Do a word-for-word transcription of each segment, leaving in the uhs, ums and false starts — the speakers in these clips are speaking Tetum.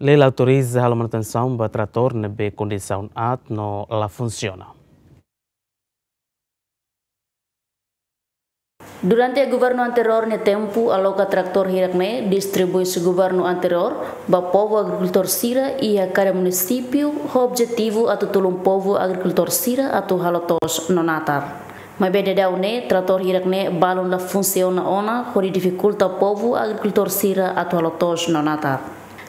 Lei la autoriza halo manutensaun ba tratór ne'ebé kondisaun aat no la funsiona. Durante governu anteriór nia tempu, aloka tratór hirak-ne'e distribui husi governu anteriór ba povu agrikultór sira iha kada munisípiu, ho objetivu atu tulun povu agrikultór sira atu halo to'os no natar. Maibé daudaun ne'e, tratór hirak-ne'e balun la funsiona ona, hodi difikulta povu agrikultór sira atu halo to'os no natar.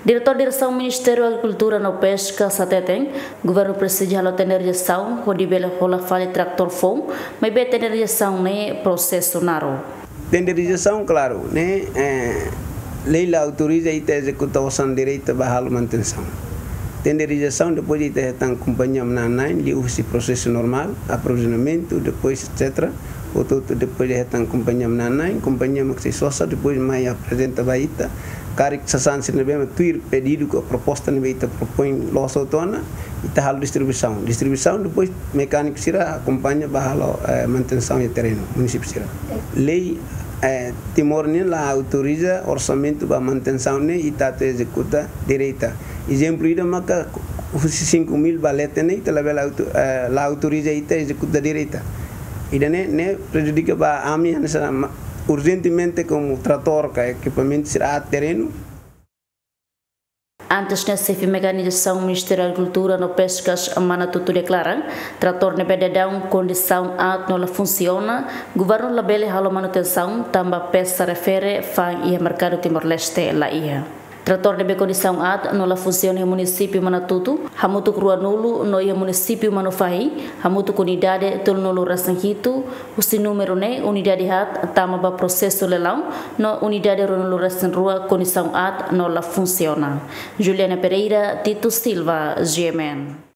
Diretór Diresaun Ministériu Agrikultura no Peska hateten, governu presiza halo tenderizasaun hodi bele hola fali tratór foun, maibé tenderizasaun ne'e prosesu naruk. Tenderizasaun, klaru, ne'e, eh, lei la autoriza ita ezekuta osan direta ba halo manutensaun. Tenderizasaun, depois ita hetan kompañia manán-na'in, liuhusi prosesu normál, aprovizionamentu, depois et cetera. Hotu-hotu depois de hetan kompañia manán-na'in, kompañia mak sei sosa, depois mai aprezenta ba ita. Karik sasán sira ne'ebé mak tuir pedidu ka proposta ne'ebé ita propoin loos hotu ona, ita halo distribuisaun. Distribuisaun, depois mekániku sira akompaña ba halo, eh, manutensaun iha terrenu, munisípiu sira. Lei, eh, Timor nian la autoriza orsamentu ba manutensaun ne'e ita atu ezekuta direta. Ezemplu ida maka husi cinco mil ba leten ne'e ita labele auto-, eh, la autoriza ita ezekuta direta. Ida-ne'e, ne'e prejudika ba ami hanesan ma-, urjentemente komu tratór ka ekipamentu sira aat terrenu. Antes ne'e, xefe mekanizasaun Ministériu Agrikultura no Peskas, Manatutu, deklara, tratór ne'ebé daudaun kondisaun aat no la funsiona, governu labele halo manutensaun tanba pesa refere fa'an iha merkadu Timor-Leste la iha. Tratór ne'ebé kondisaun aat no la funsiona iha munisípiu Manatutu, hamutuk ruanulu, no iha munisípiu Manufahi, hamutuk unidade tolunulu-resin-hitu, husi númeru ne'e unidade haat tama ba prosesu leilaun, no unidade ruanulu-resin-rua kondisaun aat no la funsiona. Juliana Pereira, Tito Silva, G M N.